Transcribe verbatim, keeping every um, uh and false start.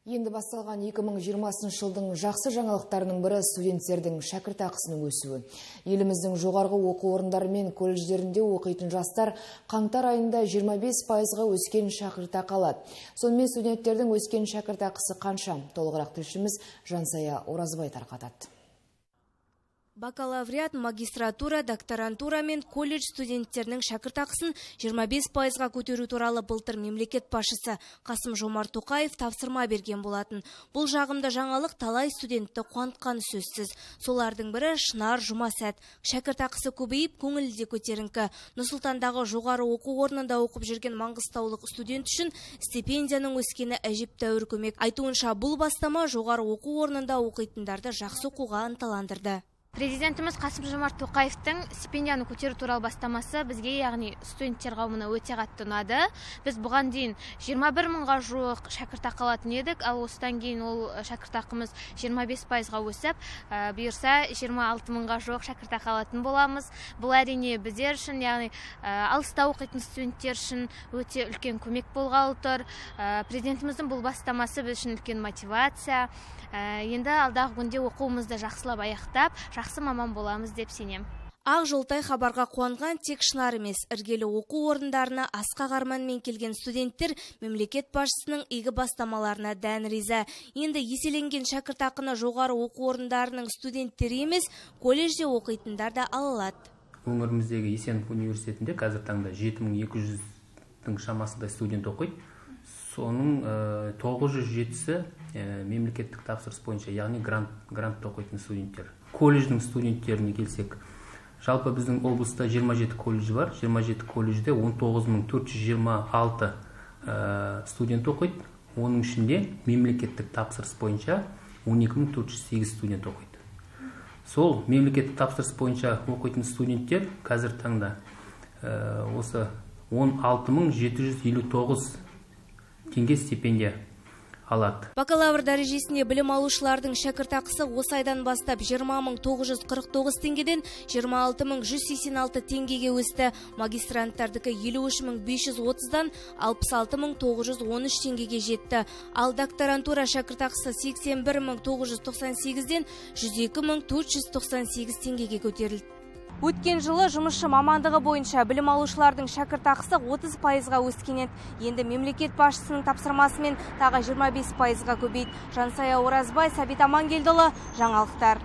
Енді басталған екі мың жиырмасыншы жылдың жақсы жаңалықтарының бірі студенттердің шәкіртақысының өсуі. Еліміздің жоғарғы оқу орындары мен колледждерінде оқитын жастар қаңтар айында жиырма бес пайызға өскен шәкіртақы алады. Сонымен студенттердің өскен шәкіртақысы қанша? Толығырақ тілшіміз Жансая Оразбай тарқатады. Бакалавриат, магистратура, докторантура мен колледж студенттерінің шәкіртақысын жиырма бес пайызға көтеру туралы былтыр мемлекет басшысы Қасым-Жомарт Тоқаев тапсырма берген болатын. Бұл жағымды жаңалық талай студентті қуантқаны сөзсіз. Солардың бірі Шынар Жұмасәт. Шәкіртақысы көбейіп, көңілі де көтеріңкі. Нұр-Сұлтандағы жоғары оқу орнында оқып жүрген маңғыстаулық студент үшін стипендияның өскені әжептәуір көмек. Айтуынша, бұл бастама жоғары оқу орнында оқитындарды жақсы оқуға ынталандырды. Президентіміз Қасым-Жомарт Тоқаевтың стипендияны көтеру туралы бастамасы бізге, яғни студенттер қауымына өте қатты ұнады. Біз бұған дейін жиырма бір мыңға жуық шәкіртақы алатын едік, ал осыдан кейін ол шәкіртақымыз жиырма бес пайызға өсіп, бұйырса жиырма алты мыңға жуық шәкіртақы алатын боламыз. Бұл әрине біздер үшін, яғни алыста оқитын студенттер үшін өте үлкен көмек болғалы тұр. Президентіміздің бұл бастамасы біз үшін үлкен мотивация. Енді алдағы күнде оқуымызды жақсылап аяқтап, жақсы маман боламыз деп сенем. Ақ жолтай хабарға қуанған тек Шынар емес, іргелі оқу орындарына асқақ арманмен келген студенттер мемлекет басшысының игі бастамаларына дән риза. Енді еселенген шәкіртақыны жоғары оқу орындарының студенттері емес, колледжде оқитындар да ала алады. Өңіріміздегі Есенов университетінде қазір таңда жеті мың екі жүздің шамасында студент оқиды. Соның тоғыз жүз жетісі мемлекеттік тапсырыс бойынша, яғни грант, грантта оқитын студенттер. Колледждің студенттеріне келсек, жалпы біздің облыста жиырма жеті колледж бар. жиырма жеті колледжде он тоғыз мың төрт жүз жиырма алты студент оқиды. Оның ішінде мемлекеттік тапсырыс бойынша он екі мың төрт жүз сегіз студент оқиды. Сол мемлекеттік тапсырыс бойынша оқитын студенттер қазір таңда осы он алты мың жеті жүз елу тоғыз теңге стипендия алады. Бакалавр дәрежесінде білім алушылардың шәкіртақысы осы айдан бастап жиырма мың тоғыз жүз қырық тоғыз теңгеден жиырма алты мың жүз сексен алты теңгеге өсті. Магистранттардікі елу үш мың бес жүз отыздан алпыс алты мың тоғыз жүз он үш теңгеге жетті. Ал докторантура шәкіртақысы сексен бір мың тоғыз жүз тоқсан сегізден жүз екі мың төрт жүз тоқсан сегіз теңгеге көтерілді. Өткен жылы жұмысшы мамандығы бойынша білім алушылардың шәкіртақысы отыз пайызға өскен еді. Енді мемлекет басшысының тапсырмасымен тағы жиырма бес пайызға көбейді. Жансая Оразбай, Сәбит Амангелдіұлы, жаңалықтар.